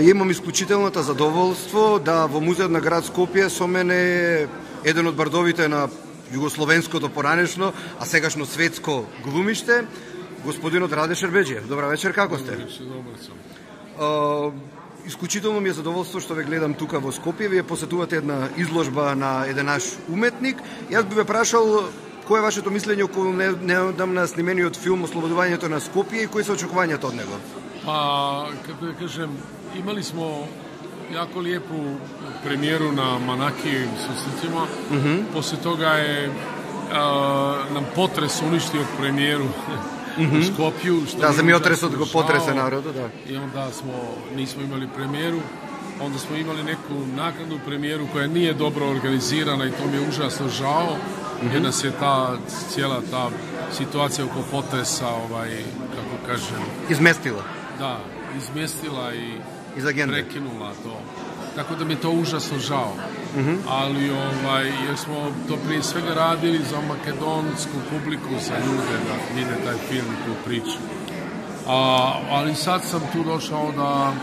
Имам исклучителната задоволство да во Музеот на град Скопје со мене е еден од бардовите на југословенското поранешно, а сегашно светско глумиште, господинот Раде Шербеџиев. Добра вечер, како сте? Исклучително ми е задоволство што ве гледам тука во Скопје. Вие посетувате една изложба на еден наш уметник. Јас би ве прашал кој е вашето мислење околу недавно снимениот филм Ослободувањето на Скопје и кои се очекувањата од него? Па, како да кажем, имали смо јако лиепу премиеру на Манакиевим susretima. После тога е нам потрес уништио премиеру у Скопју. Да, земјотресот го потресе народот, да. И онда нисмо имали премиеру. Onda smo imali neku naknadnu premijeru koja nije dobro organizirana i to mi je užasno žao, jer nas je cijela ta situacija oko potresa, kako kažem... Izmestila. Da, izmestila i prekinula to. Tako da mi je to užasno žao. Ali, jer smo to prije svega radili za makedonsku publiku, za ljude da vide taj film i tu priču. Ali sad sam tu došao da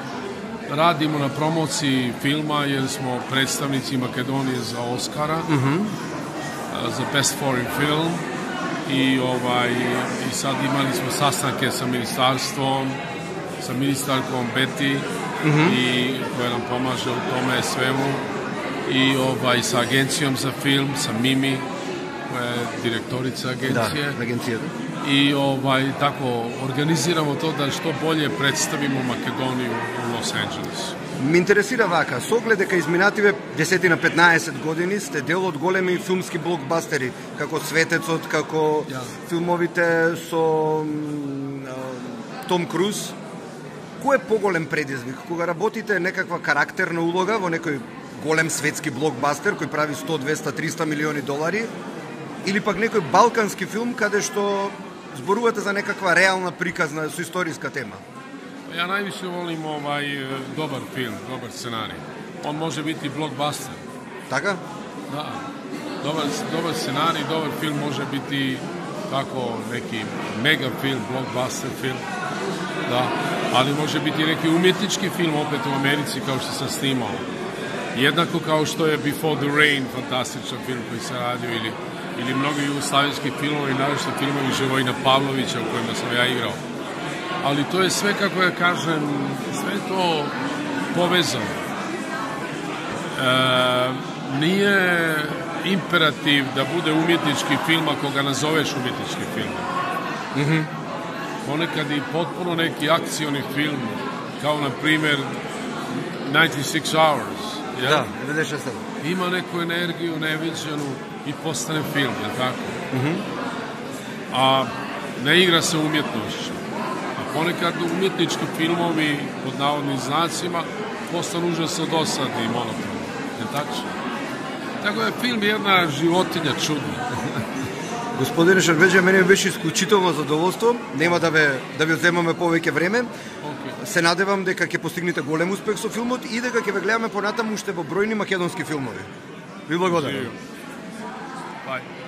radimo na promociji filma jer smo predstavnici Makedonije za Oscara, za Best Foreign Film i sad imali smo sastanke sa ministarstvom, sa ministarkom Beti i koja nam pomaže u tome svemu i sa agencijom za film, sa Mimi koja je direktorica agencije. Da, agencija. I tako organiziramo to da što bolje predstavimo Македонiju u Лос Анџелес. Ме интересира вака, со оглед дека изминативе 10 на 15 години сте дел од големи филмски блокбастери, како Светецот, како филмовите со Том Круз. Кој е поголем предизвик? Кога работите некаква карактерна улога во некој голем светски блокбастер кој прави 100, 200, 300 милиони долари, или пак некој балкански филм каде што зборувате за некаква реална приказна со историска тема? Ja najviše volim dobar film, dobar scenarij. On može biti blockbuster. Така? Da. Dobar scenarij, dobar film može biti tako neki mega film, blockbuster film. Da. Ali može biti neki umjetnički film opet u Americi kao što sam snimao. Jednako kao što je Before the Rain, fantastičan film koji se radio ili mnogi jugoslavenski filmovi, naročito filmovi Živojina Pavlovića u kojima sam ja igrao. Ali to je sve, kako ja kažem, sve to povezano. Nije imperativ da bude umjetnički film ako ga nazoveš umjetnički film. Ponekad i potpuno neki akcioni film, kao na primjer 96 Hours. Da, 96. Ima neku energiju neviđenu i postane film, je tako? A ne igra se umjetnošću. A ponekad umjetnički filmovi, pod navodnim znacima, postanu užasno dosadni i monotoni. Je tako? Tako je film jedna životinja čudna. Господине Шербеџиев, мене беше исклучително задоволство. Нема да ви одземаме повеќе време. Се надевам дека ќе постигнете голем успех со филмот и дека ќе ве гледаме понатаму уште во бројни македонски филмови. Ви благодарам. Bye.